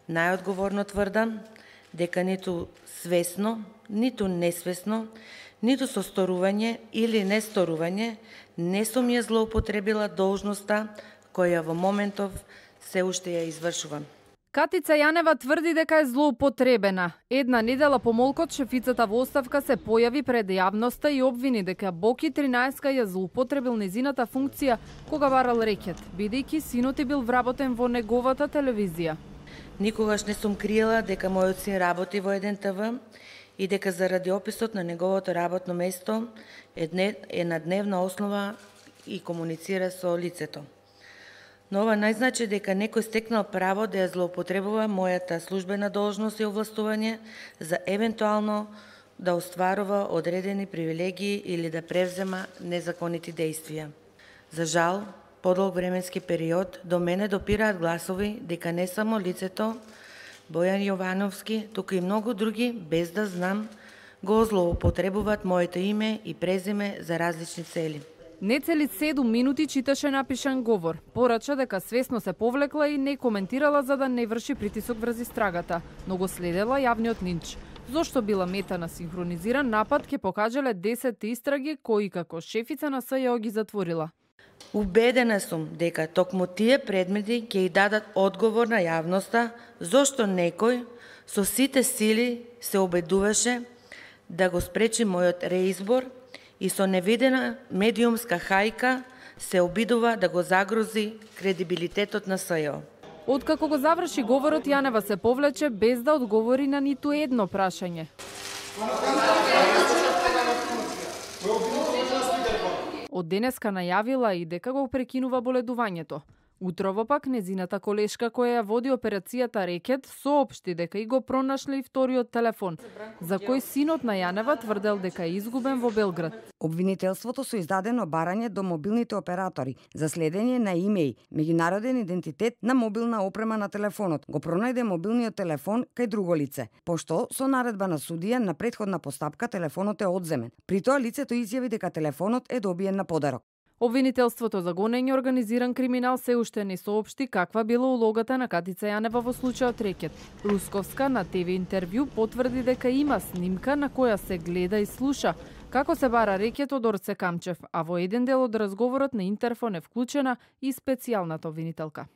Најодговорно тврдам дека ниту свесно, ниту несвесно, ниту со сторување или несторување не сум ја злоупотребила должноста која во моментов се уште ја извршувам. Катица Јанева тврди дека е злоупотребена. Една недела по молкот шефицата во оставка се појави пред јавноста и обвини дека Боки 13 ја злоупотребил незината функција кога барал рекет, бидејќи синот е бил вработен во неговата телевизија. Никогаш не сум криела дека мојот син работи во 1 ТВ и дека заради описот на неговото работно место е на дневна основа и комуницира со лицето. Но ова не значи дека некој стекнал право да ја злоупотребува мојата службена должност и овластување за евентуално да остварува одредени привилегии или да превзема незаконити действија. За жал, подолг временски период до мене допираат гласови дека не само лицето Бојан Јовановски, туку и многу други, без да знам, го злоупотребуваат моето име и презиме за различни цели. Нецели 7 минути читаше напишан говор. Порача дека свесно се повлекла и не коментирала за да не врши притисок врз истрагата, но го следела јавниот линч. Зошто била мета на синхронизиран напад ќе покажале 10 истраги кои како шефица на СЈО ги затворила. Убедена сум дека токму тие предмети ќе и дадат одговор на јавноста зошто некој со сите сили се обидуваше да го спречи мојот реизбор и со невидена медиумска хајка се обидува да го загрози кредибилитетот на СЈО. Откако го заврши говорот, Јанева се повлече без да одговори на ниту едно прашање. Од денеска најавила и дека го прекинува боледувањето. Утрово пак незината колешка која ја води операцијата Рекет соопшти дека и го пронашле и вториот телефон, за кој синот на Јанева тврдел дека е изгубен во Белград. Обвинителството со издадено барање до мобилните оператори за следење на имеј, меѓународен идентитет на мобилна опрема на телефонот. Го пронајде мобилниот телефон кај друго лице, пошто со наредба на судија на претходна постапка телефонот е одземен. При тоа лицето изјави дека телефонот е добиен на подарок. Обвинителството за гонење организиран криминал се уште не соопшти каква била улогата на Катица Јанева во случајот Рекет. Русковска на ТВ интервју потврди дека има снимка на која се гледа и слуша како се бара рекет од Орце Камчев, а во еден дел од разговорот на интерфон е вклучена и специјалната обвинителка.